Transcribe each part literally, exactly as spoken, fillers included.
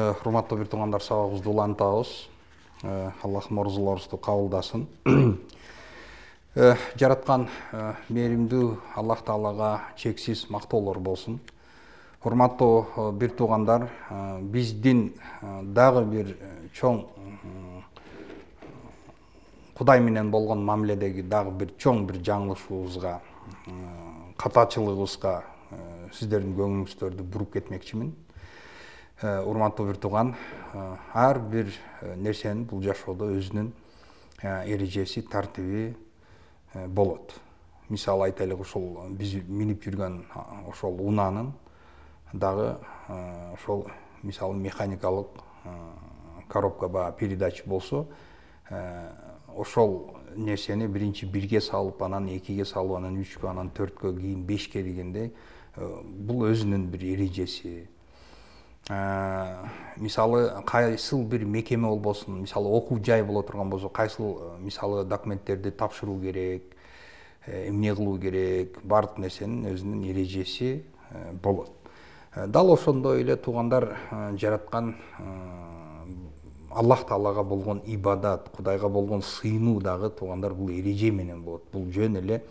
Урматтуу бир туугандар, сабагыбызды улантабыз. Аллах морзуларыбызды кабылдасын. Жараткан мээримдүү Аллах Таалага чексиз мактоолор болсун. Урматтуу бир туугандар, биздин дагы бир чоң Кудай менен болгон мамиледеги дагы бир чоң бир жаңылышыбызга, катачылыгыбызга сиздердин көңүлүңүздөрдү буруп кетмекчимин. Урматтуу бир тууган, ар бир нерсенин бул жашоодо өзүнүн эрежеси, тартиби болот. Мисалы айтайлык, ошол биз минип жүргөн ошол унаанын дагы ошол мисалы механикалык коробка ба передач болсо, ошол нерсени биринчи бирге салып, анан экиге салып, анан үчкө, анан төрткө, кийин бешке дегендей, бул өзүнүн бир эрежеси. Мисалы кайсыл бир мекеме болбосун, мисалы окуу жай боло турган болсо, кайсыл мисалы документтерди тапшыруу керек, эмне кылуу керек, баардык нерсенин өзүнүн эрежеси болот. Дал ошондой эле туугандар, жараткан Аллах Таалага болгон ибадат, Кудайга болгон сыйынуу дагы туугандар бул эреже менен болот. Бул жөн эле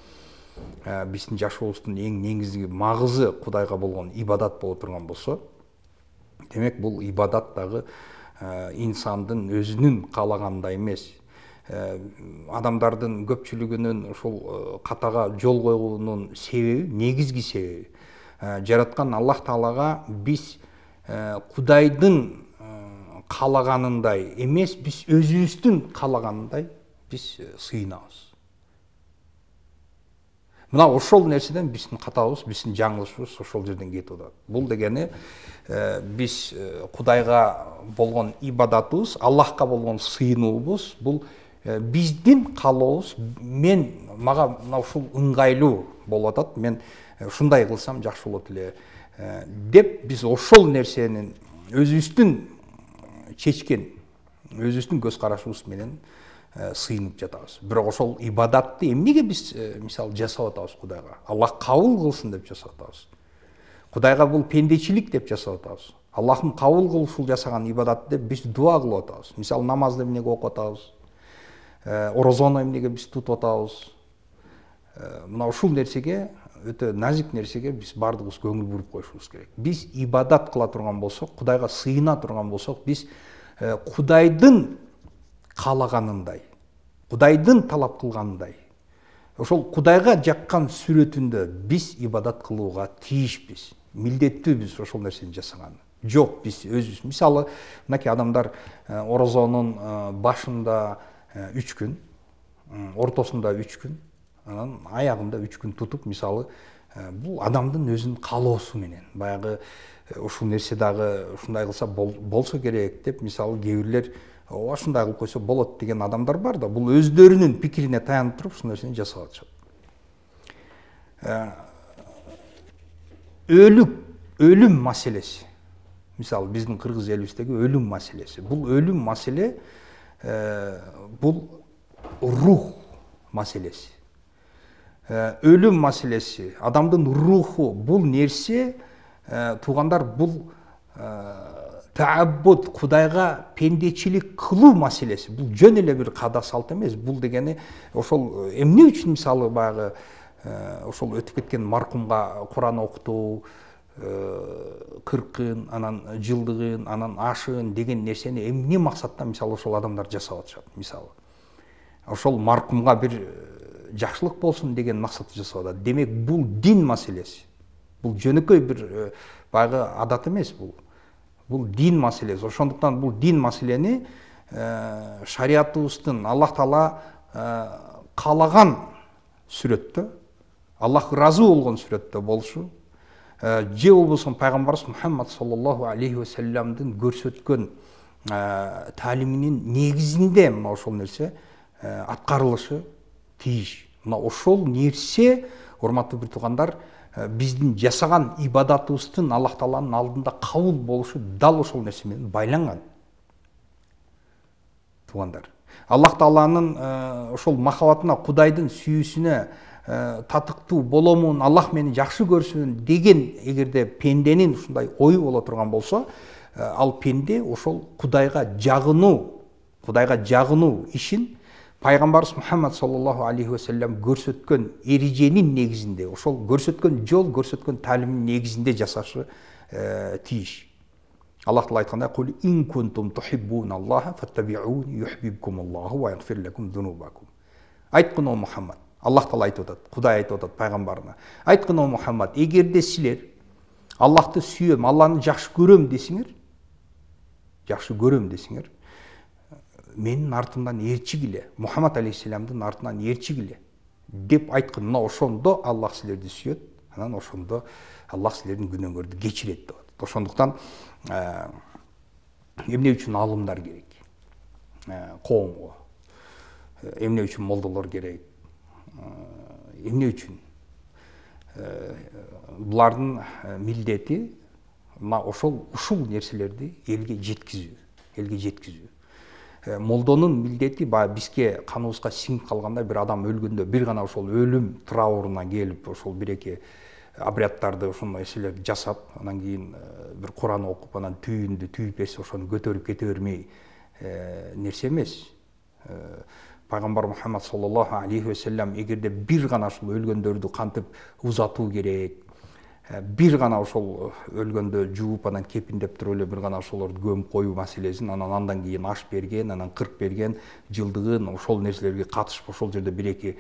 биздин жашообуздун эң негизги магызы Кудайга болгон ибадат боло турган болсо, демек бул ибадат дагы инсандын өзүнүн каалагандай эмес, адамдардын көпчүлүгүнүн ушул катага жол койгонунун себеби, негизги себеби, жараткан Аллах Таалага биз Кудайдын каалаганындай эмес, биз өзүбүздүн каалаганындай биз сыйынабыз. Мына ошол нерседен биздин катабыз, биздин жаңылышыбыз ошол жерден кетип атат. Бул дегени биз Кудайга болгон ибадатыбыз, Аллахка болгон сыйынуубуз, бул биздин каалообуз, мен мага мына ушул ыңгайлуу болуп атат, мен ушундай кылсам жакшы болот эле деп биз ошол нерсенин өзүбүздүн чечкен, өзүбүздүн көз карашыбыз менен сыйынып жатабыз. Бирок ошол ибадатты эмнеге биз мисалы жасап атабыз Кудайга? Аллах кабыл кылсын деп жасап атабыз. Кудайга бул пендечилик деп жасап атабыз. Аллахым кабыл кыл ушул жасаган ибадатты деп биз дуа кылып атабыз. Мисалы намазды эмнеге окуп атабыз? Орозону эмнеге биз тутуп атабыз? Мына ушул нерсеге, өтө назик нерсеге биз баардыгыбыз көңүл буруп коюшубуз керек. Биз ибадат кыла турган болсок, Кудайга сыйына турган болсок, биз Кудайдын каалаганындай, Кудайдын талап кылганындай, ошол Кудайга жаккан сүрөтүндө биз ибадат кылууга тийишпиз, милдеттүүбүз ошол нерсени жасаган. Жок, биз өзүбүз, мисалы, мынакей адамдар орозонун башында үч күн, ортосунда үч күн, анан аягында үч күн тутуп, мисалы, бул адамдын өзүнүн каалоосу менен, баягы ушул нерсе дагы ушундай кылса болсо керек деп, мисалы, кээ бирлер ооба ушундай кылып койсо болот деген адамдар бар да, бул өздөрүнүн пикирине таянып туруп ушул нерсени жасап атышат. Өлүк, өлүм маселеси. Мисалы, биздин кыргыз элибиздеги өлүм маселеси. Бул өлүм маселе, бул рух маселеси. Өлүм маселеси, адамдын руху, бул нерсе, туугандар, бул тааббуд, Кудайга пендечилик кылуу маселеси. Бул жөн эле бир каада салт эмес. Бул дегени ошол эмне үчүн, мисалы, баягы ошол өтүп кеткен маркумга Куран окутуу, кыркын, анан жылдыгын, анан ашын деген нерсени эмне максаттан, мисалы, ошол адамдар жасап атышат, мисалы. Ошол маркумга бир жакшылык болсун деген максатта жасап атат. Демек, бул дин маселеси. Бул жөнөкөй бир баягы адат эмес бул. Бул дин маселеси. Ошондуктан бул дин маселени шариятыбыздын Аллах Таала каалаган сүрөттө, Аллах ыраазы болгон сүрөттө болушу, же болбосо пайгамбарыбыз Мухаммад саллаллаху алейхи ва салламдын көрсөткөн таалиминин негизинде мына ошол нерсе аткарылышы тийиш. Мына ошол нерсе, урматтуу бир туугандар, биздин жасаган ибадатыбыздын Аллах Тааланын алдында кабыл болушу дал ошол нерсе менен байланган. Туугандар, Аллах Тааланын ошол махабатына, Кудайдын сүйүүсүнө татыктуу боломун, Аллах мени жакшы көрсүн деген эгерде пенденин ушундай ою боло турган болсо, ал пенде ошол Кудайга жагынуу, Кудайга жагынуу ишин пайгамбарыбыз Мухаммад саллаллаху алейхи вассалам көрсөткөн эреженин негизинде, ошол көрсөткөн жол, көрсөткөн таалимдин негизинде жасашы тийиш. Аллах Таала айткандай: "Кул ин кунтум тухиббуналлаха фаттабиуни юхиббукумуллаху ва ягфир лакум зунубакум." Айткын о Мухаммад, Аллах Таала айтып атат, Кудай айтып атат пайгамбарына. Айткын о Мухаммад, эгерде силер Аллахты сүйөм, Алланы жакшы көрөм десиңер, жакшы көрөм десиңер, менин артымдан ээрчигиле, Мухаммад алейхиссаламдын артынан ээрчигиле деп айткын. Мына ошондо Аллах силерди сүйөт, анан ошондо Аллах силердин күнөөңөрдү кечирет деп атат. Ошондуктан эмне үчүн алымдар керек коомго, эмне үчүн молдолор керек, эмне үчүн булардын милдети мына ошол ушул нерселерди элге жеткизүү, элге жеткизүү. Молдонун милдети баягы бизге каныбызга сиңип калгандай, бир адам өлгөндө бир гана ошол өлүм трауруна келип, ошол бир эки абрядтарды, ошол нерселерди жасап, анан кийин бир Куран окуп, анан түйүндү түйүп берсе ошону көтөрүп кете бермей нерсе эмес. Пайгамбар Мухаммад саллаллаху алейхи вассалам эгерде бир гана ошол өлгөндөрдү кантип узатуу керек, бир гана ошол өлгөндө жууп, анан кепиндеп туруп эле бир гана ошолорду көмүп коюу маселесин, анан андан кийин аш берген, анан кырк берген, жылдыгын ошол нерселерге катышып, ошол жерде бир эки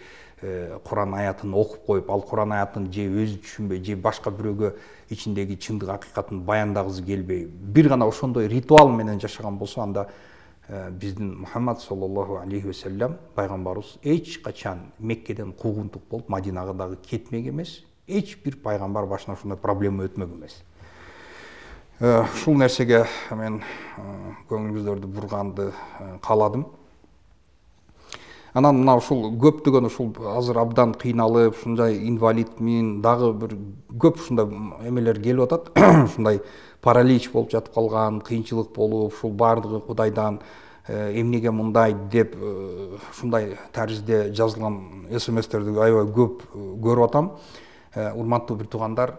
Куран аятын окуп коюп, ал Куран аятын же өзү түшүнбөй, же башка бирөөгө ичиндеги чындык акыйкатын баяндагысы келбей, бир гана ошондой ритуал менен жашаган болсо, анда биздин Мухаммад саллаллаху алейхи вассалам пайгамбарыбыз эч качан Меккеден куугунтук болуп Мадинага дагы кетмек эмес. Эч бир пайгамбар башына ушундай проблема өтмөк эмес. Ушул нерсеге мен көңүлүңүздөрдү бурганды кааладым. Анан мына ушул көптөгөн ушул азыр абдан кыйналып, ушундай инвалидмин, дагы бир көп ушундай эмелер келип атат. Ушундай паралич болуп жатып калган, кыйынчылык болуп, ушул баардыгы Кудайдан эмнеге мындай деп ушундай таризде жазылган эс эм эстерди аябай көп көрүп атам. Урматтуу бир туугандар,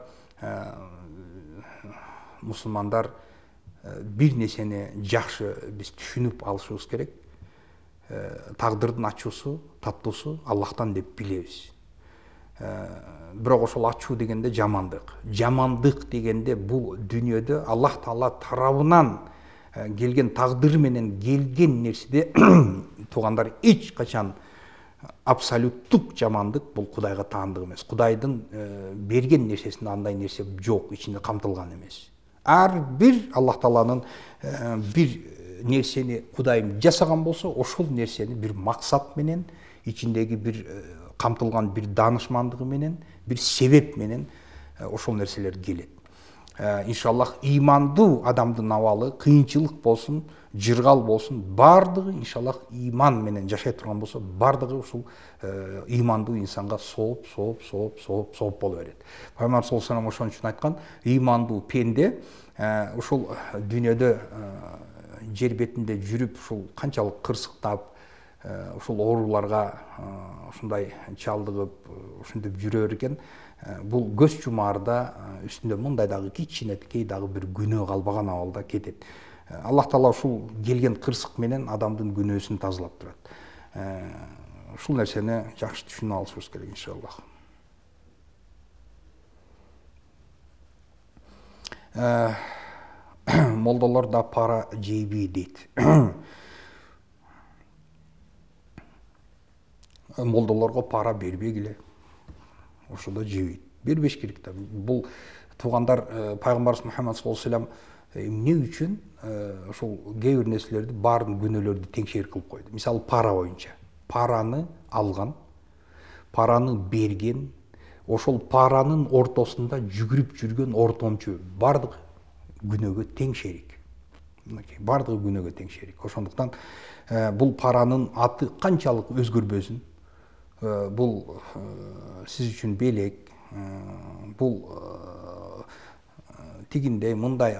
мусулмандар, бир нерсени жакшы биз түшүнүп алышыбыз керек. Тагдырдын ачуусу, таттуусу Аллахтан деп билебиз. Бирок ошол ачуу дегенде жамандык. Жамандык дегенде бул дүйнөдө Аллах Таала тарабынан келген тагдыр менен келген нерседе туугандар эч качан абсолюттук жамандык бул Кудайга таандык эмес. Кудайдын берген нерсесинде андай нерсе жок, ичинде камтылган эмес. Ар бир Аллах Тааланын бир нерсени Кудайым жасаган болсо, ошол нерсени бир максат менен, ичиндеги бир камтылган бир даанышмандыгы менен, бир себеп менен ошол нерселер келет. Иншаллах ыймандуу адамдын абалы кыйынчылык болсун, жыргал болсун, бардыгы иншаллах ыйман менен жашай турган болсо, бардыгы ушул ыймандуу инсанга сооп, сооп, сооп, сооп, сооп боло берет. Пайгамбар саллаллаху алейхи вассалам ошон үчүн айткан, ыймандуу пенде ушул дүйнөдө жер бетинде жүрүп, ушул канчалык кырсыктап, ушул ооруларга ушундай чалдыгып, ушинтип жүрөр экен, бул көз жумаарда үстүндө мындай дагы кичинекей дагы бир күнөө калбаган абалда кетет. Аллах Таала ушул келген кырсык менен адамдын күнөөсүн тазалап турат. Ушул нерсени жакшы түшүнүп алышыбыз керек иншаллах. Молдолор да пара жейби дейт. Молдолорго пара бербегиле. Ошодо жебейт. Бербеш керек да. Бул туугандар пайгамбарыбыз Мухаммад саллаллаху алейхи вассалам эмне үчүн ошол кээ бир нерселерди, баардык күнөөлөрдү теңшер кылып койду. Мисалы, пара боюнча. Параны алган, параны берген, ошол паранын ортосунда жүгүрүп жүргөн ортомчу баардык күнөөгө тең шерик. Баардыгы күнөөгө тең шерик. Ошондуктан бул паранын аты канчалык өзгөрбөсүн, бул сиз үчүн белек, бул тигиндей, мындай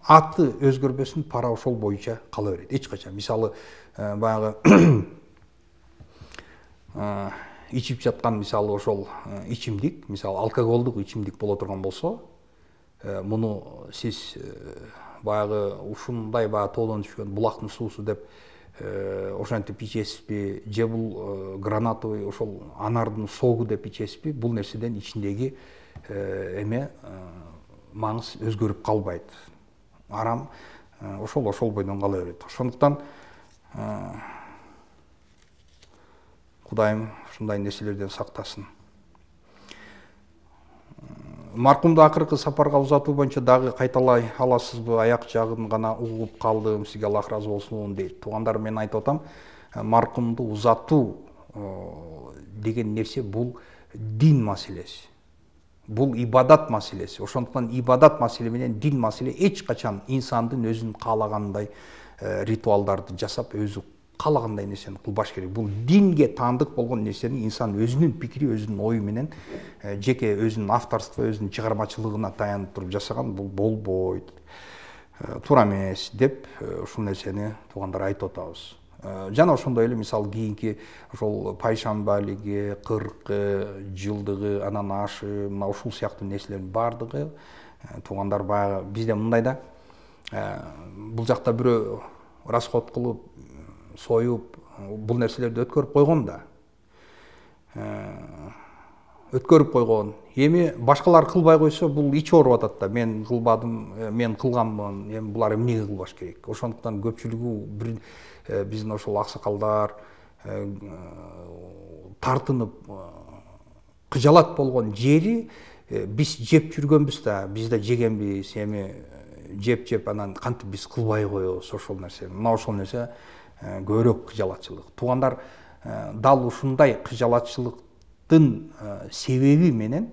аты өзгөрбөсүн, пара ошол боюнча кала берет. Эч качан. Мисалы, баягы ичип жаткан, мисалы, ошол ичимдик, мисалы, алкоголдук ичимдик боло турган болсо, муну сиз баягы ушундай баягы тоодон түшкөн булактын суусу деп ошентип ичесизби, же бул гранатовый ошол анардын согу деп ичесизби, бул нерседен ичиндеги эме маңыз өзгөрүп калбайт. Арам ошол ошол бойдон кала берет. Ошондуктан Кудайым ушундай нерселерден сактасын. Маркумду акыркы сапарга узатуу боюнча дагы кайталай аласызбы? Аяк жагын гана угуп калдым. Сизге Аллах ыраазы болсун дейт. Туугандар, мен айтып атам, маркумду узатуу деген нерсе бул дин маселеси. Бул ибадат маселеси. Ошондуктан ибадат маселе менен дин маселе эч качан инсандын өзүнүн каалагандай ритуалдарды жасап, өзү каалагандай нерсени кылбаш керек. Бул динге таандык болгон нерсени инсан өзүнүн пикири, өзүнүн ою менен, жеке өзүнүн авторство, өзүнүн чыгармачылыгына таянып туруп жасаган бул болбойт. Туура эмес деп ушул нерсени туугандар айтып атабыз. Жана ошондой эле мисалы кийинки ошол пайшамбалиги, кыркы, жылдыгы, анан ашы, мына ушул сыяктуу нерселердин баардыгы туугандар баягы бизде мындай да, бул жакта бирөө расход кылып, союп, бул нерселерди өткөрүп койгон да. Өткөрүп койгон. Эми башкалар кылбай койсо, бул ичи ооруп атат да. Мен кылбадым, мен кылганмын, эми булар эмнеге кылбаш керек? Ошондуктан көпчүлүгү бир биздин ошол аксакалдар тартынып кыжалат болгон жери биз жеп жүргөнбүз да, биз да жегенбиз, эми жеп-жеп анан кантип биз кылбай коебуз ошол нерсени. Мына ошол нерсе көбүрөөк кыжалатчылык. Туугандар, дал ушундай кыжалатчылыктын себеби менен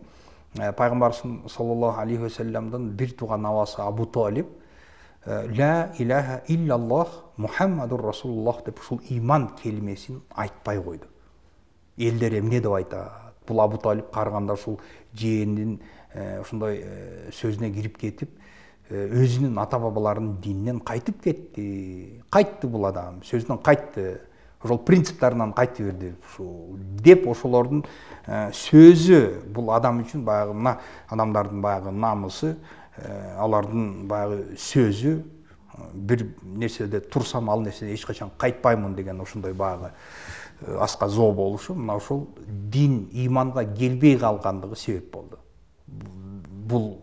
пайгамбарыбыз саллаллаху алейхи ва салламдын бир тууган абасы Абу Талиб ла илаха иллаллах Мухаммадур Расулуллах деп ушул иман келмесин айтпай койду. Элдер эмне деп айтат? Бул Абу Талиб карыганда ушул жээнин ушундай сөзүнө кирип кетип, өзүнүн ата бабаларынын дининен кайтып кетти. Кайтты бул адам, сөзүнөн кайтты. Ошол принциптарынан кайты берди ушул деп ошолордун сөзү бул адам үчүн баягы мына адамдардын баягы намысы, алардын баягы сөзү, бир нерседе турсам ал нерседе эч качан кайтпаймын деген ошондой баягы аска зоо болушу мына ошол дин, иманга келбей калгандыгы себеп болду. Бул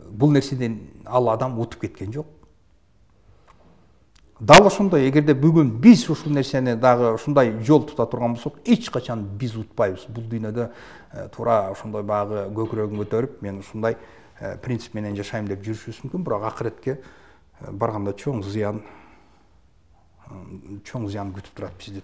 бул нерседен ал адам утуп кеткен жок. Дал ошондой, эгерде бүгүн биз ушул нерсени дагы ушундай жол тута турган болсок, эч качан биз утпайбыз. Бул дүйнөдө туура ошондой баягы көкүрөгүн көтөрүп, мен ушундай принцип менен жашайм деп жүрүшүбүз мүмкүн, бирок акыретке барганда чоң зыян, чоң зыян күтүп турат бизди.